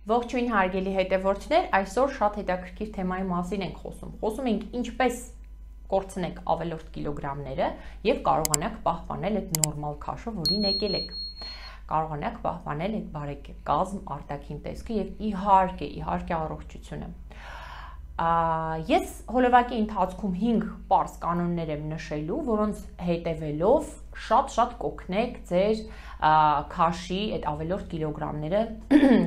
Ողջույն հարգելի հետևորդներ, այսօր շատ հետաքրքիր թեմայի մասին ենք խոսում։ Խոսում ենք ինչպես կորցնեք ավելորդ կիլոգրամները եւ կարողանաք պահպանել այդ նորմալ քաշը, որին եկել եք։ Կարողանաք պահպանել այդ բարեկազմ արտաքին տեսքը եւ իհարկե առողջությունը։ Ես հոլովակի ընթացքում 5 պարզ կանոններ եմ նշելու, որոնց հետևելով շատ կօգնեք ձեր քաշի այդ ավելորդ կիլոգրամները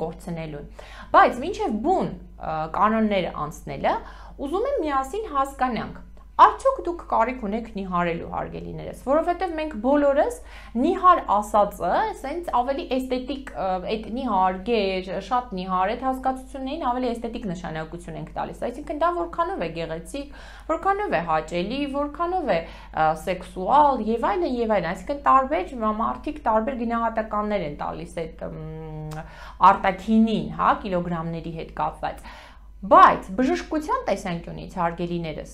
կորցնելուն։ Բայց մինչև բուն կանոնները անցնելը, ուզում եմ միասին հասկանանք, արդյոք դուք կարիք ունեք նիհարելու, հարգելիներս, որովհետև մենք բոլորս նիհար ասածը, սենց ավելի էսթետիկ, այդ նիհար, գեր, շատ նիհար, այդ հասկացություններին ավելի էսթետիկ նշանակություն ենք տալիս, այսինքն դա որքանով է գեղեցիկ, որքանով է հաճելի, որքանով է սեքսուալ եւ այլն, այսինքն տարբեր մարդիկ տարբեր գնահատականներ են տալիս այդ արտաքինին, հա, կիլոգրամների հետ կապված։ Բայց բժշկության տեսանկյունից, հարգելիներս,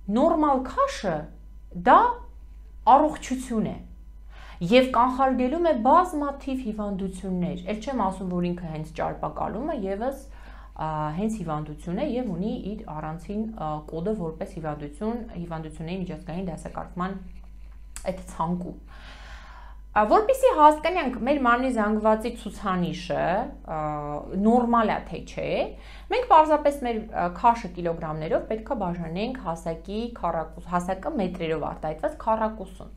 նորմալ քաշը դա առողջություն է եւ կանխարգելում է բազմաթիվ հիվանդություններ, ել չեմ ասում, որ ինքը հենց ճարպակալում է եւս հենց հիվանդություն է եւ ունի իր առանցին կոդը որպես հիվանդությունների միջազգային դասակարգման այդ ցանկում։ Որպեսզի հասկանանք մեր մարմնի զանգվածի ցուցանիշը նորմալ է թե չէ, մենք պարզապես մեր քաշը կիլոգրամներով պետք է բաժանենք հասակը մետրերով արտահայտված քառակուսուն։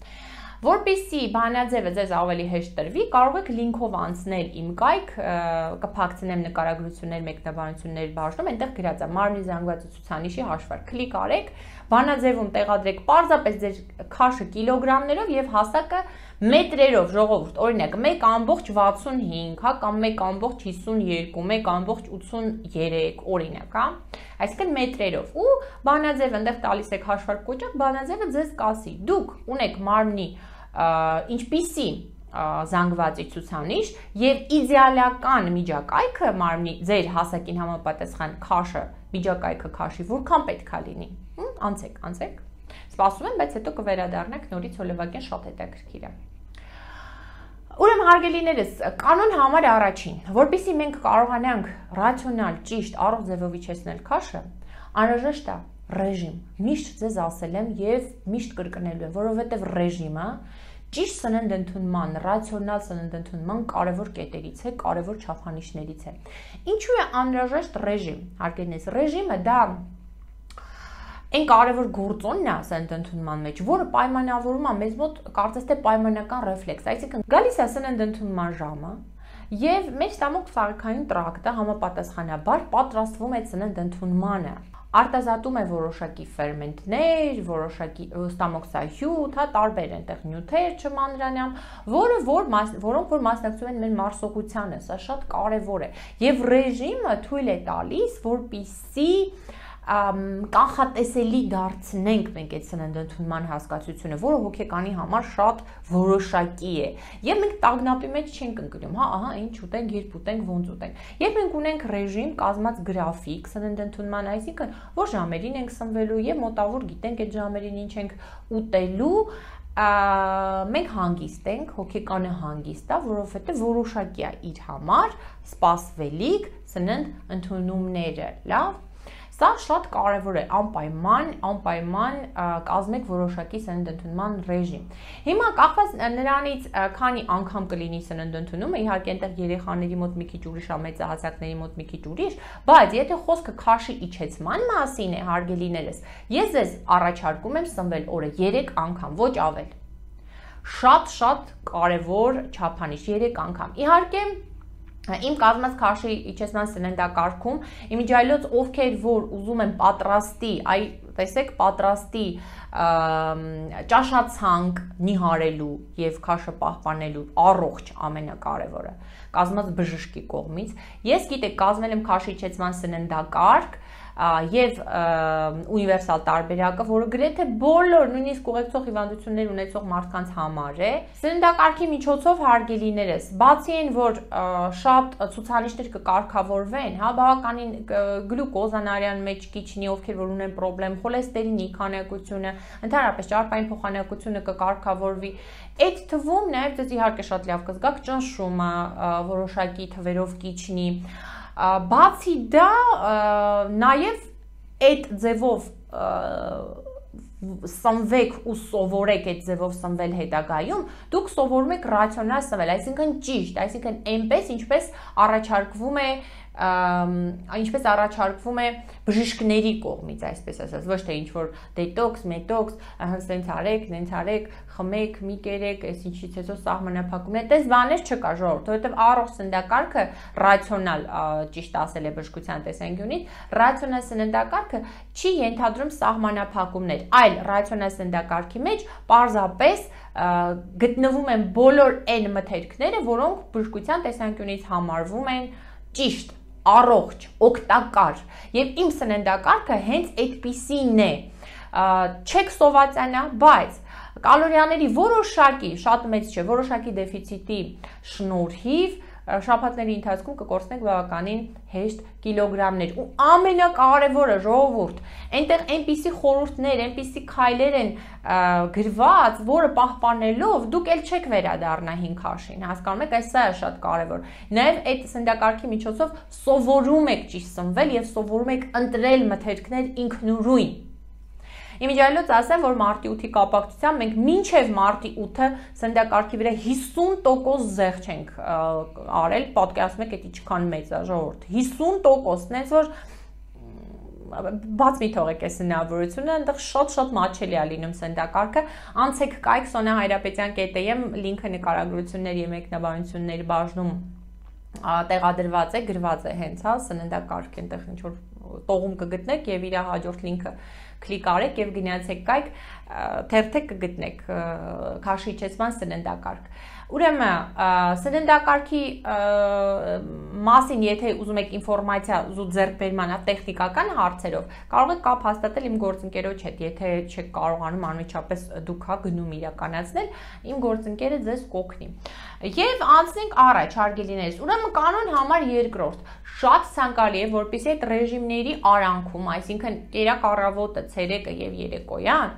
Որպեսզի բանաձևը ձեզ ավելի հեշտ տրվի, կարող եք լինքով անցնել իմ կայք, կփակցնեմ նկարագրություններ, մեկնաբանություններ բաժնում, այնտեղ գրած է մարմնի զանգվածի ցուցանիշի հաշվարկ, կլիկ արեք, բանաձևում տեղադրեք պարզապես ձեր քաշը կիլոգրամներով եւ հասակը մետրերով, ժողովուրդ, օրինակ 1.65, հա, կամ 1.52, 1.83, օրինակ, հա, այսինքն մետրերով ու բանաձևը այնտեղ տալիս եք հաշվարկ կոճակ, բանաձևը ձեզ կասի, դուք ունեք մարմնի ինչպիսի զանգվածի ցուցանիշ եւ իդեալական միջակայքը մարմնի ձեր հասակին համապատասխան քաշը, միջակայքը քաշի որքան պետք է լինի։ Անցեք։ Սպասում եմ, բայց հետո կվերադառնանք նորից հոլովակին, շատ հետաքրքիր է։ Ուրեմն հարգելիներս, կանոն համար առաջին, որպեսզի մենք կարողանանք ռացիոնալ, ճիշտ, առողջ ձևով իջեցնել քաշը, անհրաժեշտ է ռեժիմ։ Միշտ ձեզ ասել եմ եւ միշտ կրկնելու եմ, որովհետեւ ռեժիմը ճիշտ սննդընդունման, ռացիոնալ սննդընդունման կարևոր կետերից է, կարևոր չափանիշներից է։ Ինչու է անհրաժեշտ ռեժիմ, հարգելիներս, ռեժիմը դա այն կարևոր գործոնն է սննդընդունման մեջ, որը պայմանավորում է մեզ մոտ կարծես թե պայմանական ռեֆլեքս, այսինքն գալիս է սննդընդունման ժամը եւ մեր ստամոք-սարքային տրակտը համապատասխանաբար պատրաստվում է սննդընդունմանը, արտազատում է որոշակի ֆերմենտներ, որոշակի ստամոքսահյութ, հա, տարբեր այնտեղ նյութեր չմանրանամ, որոնք որ մասնակցում են մեր մարսողությանը, սա շատ կարևոր է եւ ռեժիմը թույլ է տալիս, որպեսզի կանխատեսելի դարձնենք մենք այդ սննդընդունման հասկացությունը, որը հոգեկանի համար շատ որոշակի է եւ մենք տագնապի մեջ չենք ընկնում, հա, ահա ինչ ուտենք, երբ ուտենք, ոնց ուտենք։ Երբ մենք ունենք ռեժիմ, կազմած գրաֆիկ սննդընդունման, այսինքն որ ժամերին ենք սնվելու եւ մոտավոր գիտենք այդ ժամերին ինչ ենք ուտելու, մենք հանգիստ ենք, հոգեկանը հանգիստ է, որովհետեւ որոշակի է իր համար սպասվելիք սննդընդունումները, լավ։ Սա շատ կարևոր է, անպայման կազմեք որոշակի սննդընդունման ռեժիմ։ Հիմա կախված նրանից քանի անգամ կլինի սննդընդունումը, իհարկե այնտեղ երեխաների մոտ մի քիչ ուրիշ է, մեծահասակների մոտ մի քիչ ուրիշ, բայց եթե խոսքը քաշի իջեցման մասին է, հարգելիներս, ես ձեզ առաջարկում եմ սնվել օրը 3 անգամ, ոչ ավել։ Շատ կարևոր չափանիշ 3 անգամ։ Իհարկե Իմ կազմած քաշի իջեցման սննդակարգում իմիջիայլոց ովքեր որ ուզում են պատրաստի, տեսեք, պատրաստի ճաշացանկ նիհարելու եւ քաշը պահպանելու առողջ ամենակարևորը կազմած բժշկի կողմից։ Ես գիտեք, կազմել եմ քաշի իջեցման սննդակարգ, եւ ունիվերսալ տարբերակը, որը գրեթե բոլոր նույնիսկ ուղեկցող հիվանդություններ ունեցող մարդկանց համար է։ Սննդակարգի միջոցով հարգելիներս, բացի այն, որ շատ ցուցանիշներ կկարգավորվեն, հա, բավականին գլյուկոզան մեջ կիջնի, ովքեր որ ունեն խնդրեմ, խոլեստերինի քանակությունը, ընդհանրապես ճարպային փոխանակությունը կկարգավորվի։ Այդ թվում նաև դες իհարկե շատ լավ կզգաք ճնշումը որոշակի թվերով կիջնի։ Բացի դա, նաև այդ ձևով սնվեք ու սովորեք այդ ձևով սնվել հետագայում, դուք սովորում եք ռացիոնալ սնվել, այսինքն ճիշտ, այսինքն այնպես, ինչպես առաջարկվում է բժիշկների կողմից, այսպես ասած, ոչ թե ինչ-որ դետոքս, մետոքս, հենց արեք, խմեք, մի կերեք, այս ինչից հետո սահմանափակում է, այդպես բաներ չկա ժողովուրդ, որովհետև առողջ սննդակարգը ռացիոնալ, ճիշտ ասել է բժշկության տեսանկյունից, ռացիոնալ սննդակարգը չի ենթադրում սահմանափակումներ, այլ ռացիոնալ սննդակարգի մեջ պարզապես գտնվում են բոլոր այն մթերքները, որոնք բժշկության տեսանկյունից համարվում են ճիշտ, առողջ, օգտակար, եւ իմ սննդակարգը հենց այդպիսին է, չեք սովածանա, բայց կալորիաների որոշակի, շատ մեծ չէ, որոշակի դեֆիցիտի շնորհիվ շաբաթների ընթացքում կկորցնենք բավականին հեշտ կիլոգրամներ ու ամենակարևորը ժողովուրդ, այնտեղ այնպիսի խորհուրդներ, այնպիսի քայլեր են գրված, որը պահպանելով դուք էլ չեք վերադառնա 5 քաշին, հասկանում եք, այս սա է շատ կարևոր։ Նաև այդ սննդակարգի միջոցով սովորում եք ճիշտ սնվել եւ սովորում եք ընտրել մթերքներ ինքնուրույն։ Իմիջիայլոց ասեմ, որ մարտի 8-ի կապակցությամբ մենք մինչև մարտի 8-ը սննդակարգի վրա 50% զեղ չենք արել, պատկերացնում եք, դա ինչքան մեծ է ժողովուրդ, 50%, նենց որ բաց մի թողեք այս հնարավորությունը, այնտեղ շատ մատչելի է լինում սննդակարգը, անցեք կայք Սոնա Հայրապետյան.am, լինքը նկարագրությունների եւ մեկնաբանությունների բաժնում տեղադրված է, գրված է հենց, հա, սննդակարգ, այնտեղ ինչ որ տողում կգտնեք եւ իր հաջորդ լինքը կլիկ արեք եւ գնացեք կայք, թերթեք կգտնեք քաշիչեցման սննդակարգ։ Ուրեմն սննդակարգի մասին, եթե ուզում եք ինֆորմացիա զուտ ձեռքբերման տեխնիկական հարցերով, կարող եք կապ հաստատել իմ գործընկերոջ հետ, եթե չեք կարողանում անմիջապես դուք հա գնում իրականացնել, իմ գործընկերը ձեզ կօգնի։ Եվ անցնենք առաջ, հարգելիներս, ուրեմն կանոն համար 2-րդ, շատ ցանկալի է, որպեսզի այդ ռեժիմների արանքում, այսինքն կերակ առավոտը, ցերեկը եւ երեկոյան,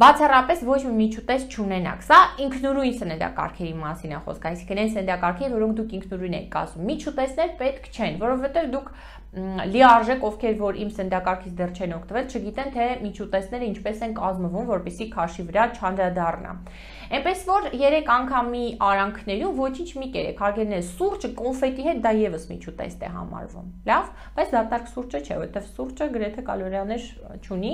բացառապես ոչ մի միջուտես չունենաք։ Սա ինքնուրույն սննդակարգերի մասին է խոսքը, այսինքն այն սննդակարգերը, որոնք դուք ինքնուրույն եք կազմում։ Միջուտեսներ պետք չեն, որովհետեւ դուք լիարժեք, ովքեր որ իմ սննդակարգից դեռ չեն օգտվել, չգիտեն թե միջուտեսները ինչպես են կազմվում, որպեսզի քաշի վրա չանդրադառնա։ Այնպես որ 3 անգամի արանքներում ոչինչ մի կերեք, հարգելիներ, սուրճը կոնֆետի հետ դա եւս միջուտեստ է համարվում։ Լավ, բայց դատարկ սուրճը չէ, որովհետեւ սուրճը գրեթե կալորիաներ չունի,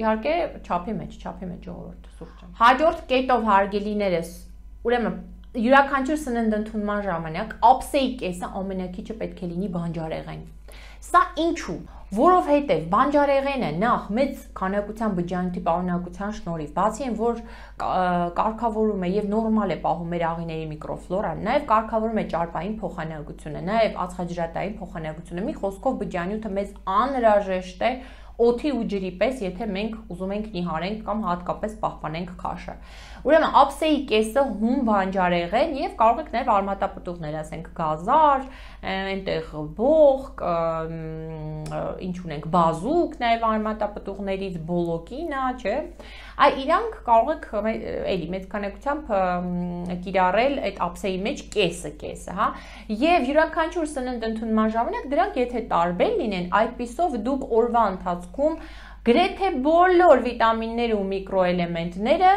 իհարկե չափի մեջ ժողովուրդ սուրճը։ Հաջորդ կետով հարգելիներս, ուրեմն յուրաքանչյուր սննդընդունման ժամանակ ափսեի կեսը ամենակիչը պետք է լինի բանջարեղեն։ Սա ինչու՞։ Որովհետև բանջարեղենը նախ մեծ քանակության բջջանյութի պարունակության շնորհիվ, բացի այն, որ կարգավորում է եւ նորմալ է պահում մեր աղիների միկրոֆլորան, նաեւ կարգավորում է ճարպային փոխանակությունը, նաեւ ածխաջրատային փոխանակությունը, մի խոսքով բջջանյութը մեզ անհրաժեշտ է օդի ու ջրի պես, եթե մենք ուզում ենք նիհարենք կամ հատկապես պահպանենք քաշը։ Ուրեմն ափսեի կեսը հում բանջարեղեն եւ կարող եք նաեւ արմատապտուղներ, ասենք գազար, այնտեղ բոխ, ինչ ունենք, բազուկ նաեւ արմատապտուղներից, բոլոկինա, չէ։ Այ իրանք կարող եք էլի մեծ քանակությամբ կիրառել այդ ափսեի մեջ կեսը, հա։ Եվ յուրաքանչյուր սննդընդունման ժամանակ դրանք եթե տարբեր լինեն, այդպիսով դուք օրվա ընթացքում գրեթե բոլոր վիտամինները ու միկրոէլեմենտները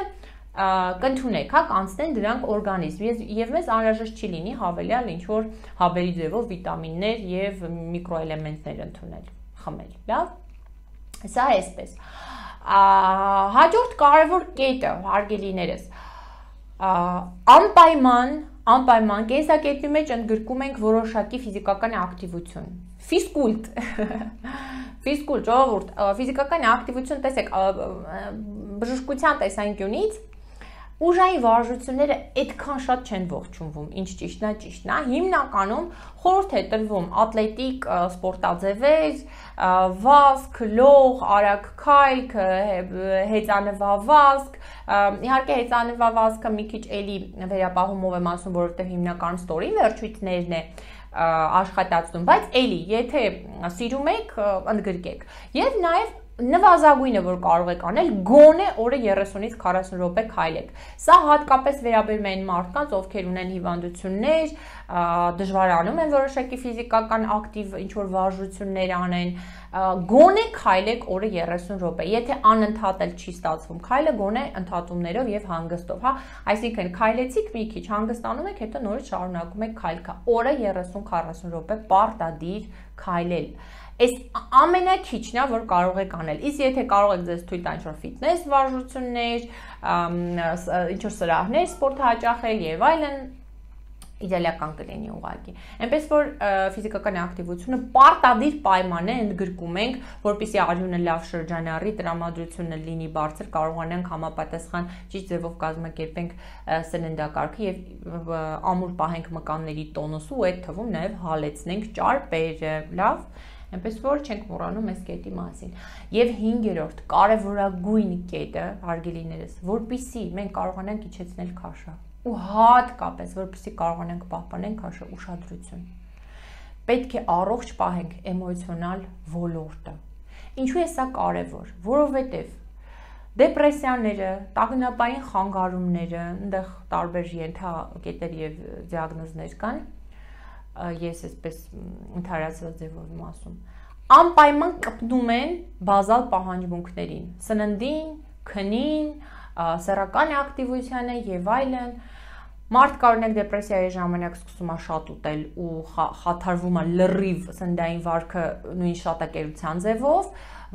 կընդունեք, հա, կանցնեն դրանք օրգանիզմ եւ մեզ անհրաժեշտ չի լինի հավելյալ ինչ որ հավերի ձևով վիտամիններ եւ միկրոէլեմենտներ ընդունել, խմել, լավ։ Սա է այսպես։ Հաջորդ կարևոր կետը, հարգելիներս, անպայման կենսակերպի մեջ ընդգրկում ենք որոշակի ֆիզիկական ակտիվություն, ֆիզկուլտ, ժողովուրդ, ֆիզիկական ակտիվություն, տեսեք, բժշկության տեսանկյունից Ուժային վարժությունները այդքան շատ չեն ողջունվում, ինչ ճիշտն է, հիմնականում խորհուրդ է տրվում ատլետիկ սպորտաձևեր, վազք, լող, արագ քայլ, հեծանվավազք, իհարկե հեծանվավազքը մի քիչ էլի վերապահումով եմ ասում, որովհետև հիմնականում ստորին վերջույթներն է աշխատացնում, բայց էլի, եթե սիրում եք, ընդգրկեք։ Եվ նաև նվազագույնը, որ կարող եք անել, գոնե օրը 30-ից 40 րոպե քայլեք։ Սա հատկապես վերաբերում է այն մարդկանց, ովքեր ունեն հիվանդություններ, դժվարանում են որոշակի ֆիզիկական ակտիվ ինչ-որ վարժություններ անեն, գոնե քայլեք օրը 30 րոպե։ Եթե անընդհատ էլ չի ստացվում քայլը, գոնե ընդհատումներով եւ հանգստով, հա, այսինքն քայլեցիք մի քիչ, հանգստանում եք, հետո նորից շարունակում եք քայլքը։ Օրը 30-40 րոպե պարտադիր քայլել։ Այս ամենաքիչն է, որ կարող եք անել։ Իսկ եթե կարող եք ձեզ թույլ տալ ինչ-որ ֆիթնես վարժություններ, ինչ-որ սրահներ սպորտ հաճախել եւ այլն, իդեալական կլինի ուղղակի։ Այնպես որ ֆիզիկական ակտիվությունը պարտադիր պայման է, ընդգրկում ենք, որպեսզի արյունը լավ շրջանառի, տրամադրությունը լինի բարձր, կարողանանք համապատասխան ճիշտ ձևով կազմակերպենք սննդակարգը եւ ամուր պահենք մկանների տոնուսը ու այդ թվում նաեւ հալեցնենք ճարպերը, լավ։ Այնպես որ չենք մոռանում այս կետի մասին։ Եվ 5-րդ կարևորագույն կետը, հարգելիներս, որպեսզի մենք կարողանանք իջեցնել քաշը, ու հատկապես որպեսզի կարողանանք պահպանել քաշը, ուշադրություն։ Պետք է առողջ պահենք էմոցիոնալ ոլորտը։ Ինչու է սա կարևոր, որովհետև դեպրեսիաները, տագնապային խանգարումները, այնտեղ տարբեր ենթակետեր եւ դիագնոզներ կան, ես այսպես ընդհանրացված ձևով եմ ասում, անպայման կպնում են բազալ պահանջմունքներին, սննդին, քնին, սեռական ակտիվությանը եւ այլն։ Մարդ օրինակ դեպրեսիայի ժամանակ սկսում է շատ ուտել ու խաթարվում է լրիվ սննդային վարքը նույն շատակերության ձևով,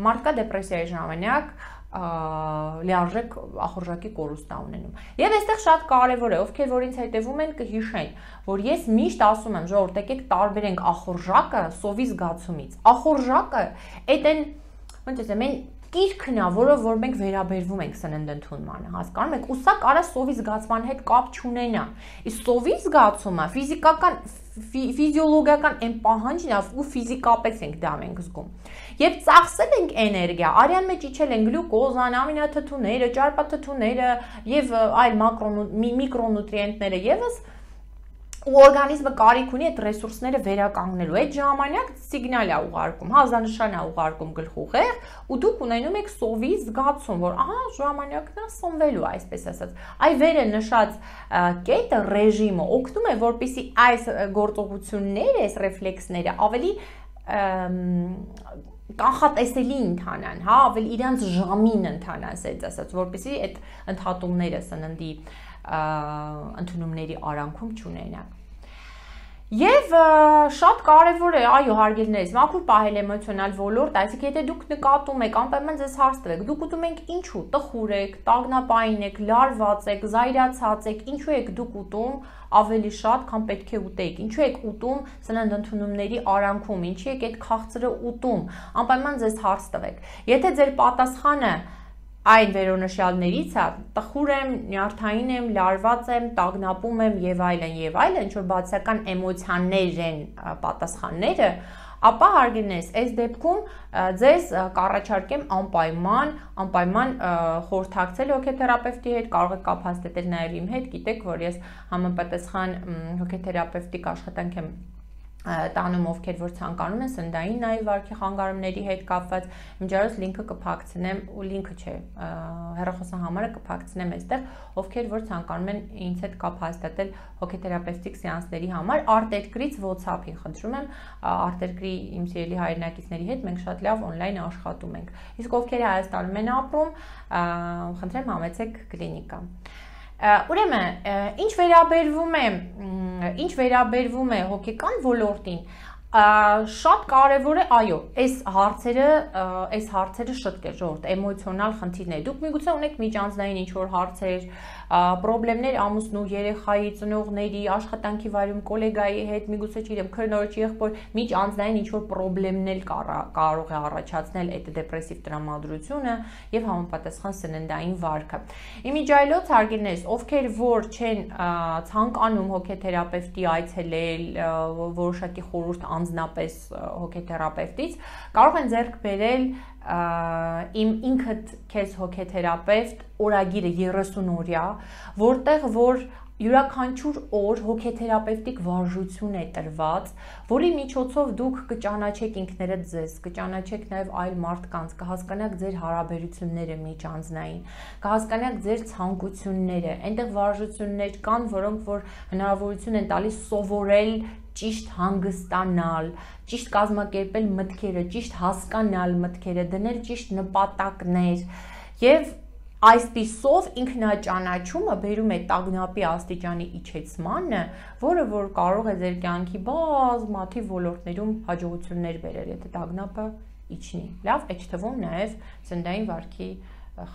մարդկա դեպրեսիայի ժամանակ լիարժեք ախորժակի կորուստ է ունենում։ Եվ այստեղ շատ կարևոր է, ովքեր որ ինձ հետևում են կհիշեն, որ ես միշտ ասում եմ, ժողովուրդ, եկեք տարբերենք ախորժակը սովի զգացումից։ Ախորժակը այդ են, ոնց ասեմ, այն կիրքն է, որով որ մենք վերաբերվում ենք սննդընդունմանը, հասկանում եք, ու սա կարա սովի զգացման հետ կապ չունենա։ Իսկ սովի զգացումը ֆիզիկական ֆիզիոլոգիական այն պահանջն է, ու ֆիզիկապես ենք դա մենք զգում։ Եվ ծախսել ենք էներգիա, արյան մեջ իջել են գլյուկոզան, ամինաթթուները, ճարպաթթուները եւ այլ միկրոնուտրիենտները եւս, ու օրգանիզմը կարիք ունի այդ ռեսուրսները վերականգնելու։ Այդ ժամանակ սիգնալ է ուղարկում, հազանշան է ուղարկում գլխուղեղ, ու դուք ունենում եք սովի զգացում, որ ահա ժամանակն է սնվելու, այսպես ասած։ Այ վերը նշած կետը, ռեժիմը օգնում է, որպեսզի այս գործողությունները, այս ռեֆլեքսները ավելի կանխատեսելի ընթանան, հա, ավելի իրանց ժամին ընթանան, ասած ասած, որպեսզի այդ ընդհատումները սննդի ընդունումների արանքում չունենան։ Եվ շատ կարևոր է, այո, հարգելիներս, մաքուր պահել էմոցիոնալ ոլորտ, այսինքն եթե դուք նկատում եք, անպայման ձեզ հարց տվեք, դուք ուտում եք ինչու, տխուր եք, տագնապային եք, լարված եք, զայրացած եք, ինչու եք դուք ուտում ավելի շատ, քան պետք է ուտեիք, ինչու եք ուտում սննդընդունումների արանքում, ինչի եք այդ քաղցրը ուտում, անպայման ձեզ հարց տվեք։ Եթե ձեր պատասխանը այն վերոնշյալներից է, տխուր եմ, նյարդային եմ, լարված եմ, տագնապում եմ եւ այլն, ինչ որ բացական էմոցիաներ են պատասխանները, ապա հարգելիներս, այս դեպքում ձեզ կառաջարկեմ անպայման խորհրդակցել հոգեթերապևտի հետ, կարող եք կապ հաստատել նաեւ իմ հետ, գիտեք, որ ես համապատասխան հոգեթերապևտիկ աշխատանք եմ տանում, ովքեր որ ցանկանում են սննդային նաև վարքի խանգարումների հետ կապված, միջարոց լինքը կփակցնեմ, ու լինքը չէ, հեռախոսահամարը կփակցնեմ այստեղ, ովքեր որ ցանկանում են ինձ հետ կապ հաստատել հոգեթերապևտիկ սեանսների համար, արտերկրից WhatsApp-ի խնդրում եմ, արտերկրի իմ սիրելի հայրենակիցների հետ մենք շատ լավ on-line աշխատում ենք։ Իսկ ովքեր Հայաստանում են ապրում, խնդրեմ համեցեք կլինիկա։ Ուրեմն, ինչ վերաբերվում է հոգեկան ոլորտին, Շատ կարևոր է, այո, այս հարցերը շտկել, ժողովուրդ, էմոցիոնալ խնդիրներ։ Դուք միգուցե ունեք միջանձնային ինչ-որ հարցեր, պրոբլեմներ ամուսնու, երեխայի, ծնողների, աշխատանքի վայրում գոլեգայի հետ, միգուցե չգիտեմ, քրնորոջ, եղբոր միջանձնային ինչ-որ պրոբլեմներ կարող է առաջացնել այդ դեպրեսիվ տրամադրությունը եւ համապատասխան սննդային վարքը։ Իմիջիայլոց հարգելիներս, ովքեր որ չեն ցանկանում հոգեթերապևտի այցելել, որոշակի խորհուրդ անձնապես հոգեթերապևտից, կարող են ձեռք բերել իմ ինքդ քեզ հոգեթերապևտ օրագիրը 30 օրյա, որտեղ որ յուրաքանչյուր օր հոգեթերապևտիկ վարժություն է տրված, որի միջոցով դուք կճանաչեք ինքներդ ձեզ, կճանաչեք նաև այլ մարդկանց, կհասկանաք ձեր հարաբերությունները միջանձնային, կհասկանաք ձեր ցանկությունները, այնտեղ վարժություններ կան, որոնք որ հնարավորություն են տալիս սովորել ճիշտ հանգստանալ, ճիշտ կազմակերպել մտքերը, ճիշտ հասկանալ մտքերը, դնել ճիշտ նպատակներ եւ այսպիսով ինքնաճանաչումը բերում է տագնապի աստիճանի իջեցմանը, որը որ կարող է ձեր կյանքի բազմաթիվ ոլորտներում հաջողություններ բերել, եթե տագնապը իջնի։ Լավ, այդ թվում նաեւ սննդային վարքի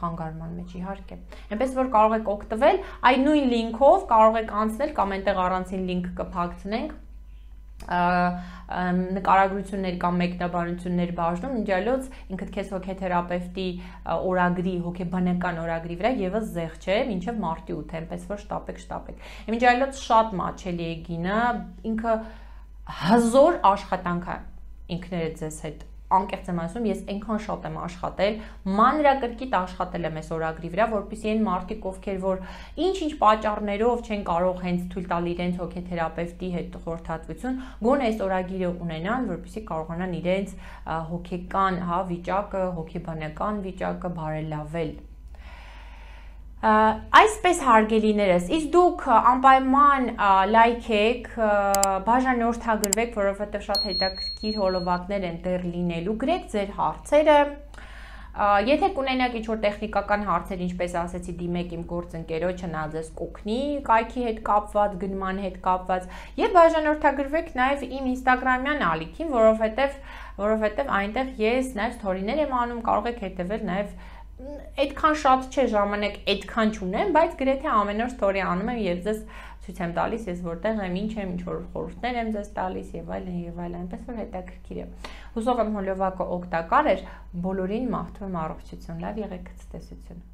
խանգարման մեջ իհարկե։ Այնպես որ կարող եք օգտվել այդ նույն լինքով, կարող եք անցնել կամ այնտեղ առանցին լինք կփակցնենք նկարագրություններ կամ մեկնաբանություններ բաժնում, իմիջիայլոց ինքդ քեզ հոգեթերապևտի օրագրի, հոգեբանական օրագրի վրա եւս զեղ չէ, մինչեւ մարտի 8, այնպես որ շտապեք։ Իմիջիայլոց շատ մաչելի է գինը, ինքը հզոր աշխատանք է ինքներդ ձեզ հետ անկեղծ եմ ասում, ես այնքան շատ եմ աշխատել, մանրակրկիտ աշխատել եմ այս օրագրի վրա, որպեսզի այն մարդիկ, ովքեր որ ինչ-ինչ պատճառներով չեն կարող հենց թույլ տալ իրենց հոգեթերապևտի հետ խորհրդատվություն, գոնե այս օրագիրը ունենան, որպեսզի կարողանան իրենց հոգեկան վիճակը, հոգեբանական վիճակը բարելավել։ Այսպես հարգելիներս, իսկ դուք անպայման լայքեք, բաժանորդագրվեք, որովհետև շատ հետաքրքիր հոլովակներ են դեռ լինելու, գրեք ձեր հարցերը, եթե կունենաք ինչ-որ տեխնիկական հարցեր, ինչպես ասեցի, դիմեք իմ գործընկերոջը, նա ձեզ կօգնի կայքի հետ կապված, գնման հետ կապված, եւ բաժանորդագրվեք նաեւ իմ ինստագրամյան ալիքին, որովհետև այնտեղ ես նաեւ սթորիներ եմ անում, կարող եք հետևել նաեւ այդքան շատ չէ ժամանակ, այդքան չունեմ, բայց գրեթե ամեն օր սթորի անում եմ եւ ձեզ ցույց եմ տալիս, ես որտեղ եմ, ինչ եմ, ինչ որ խորհուրդներ եմ ձեզ տալիս եւ այլն, այնպես որ հետաքրքիր է։ Հուսով եմ հոլովակը օգտակար էր, բոլորին մաղթում եմ առողջություն, լավ եղեք, ցտեսություն։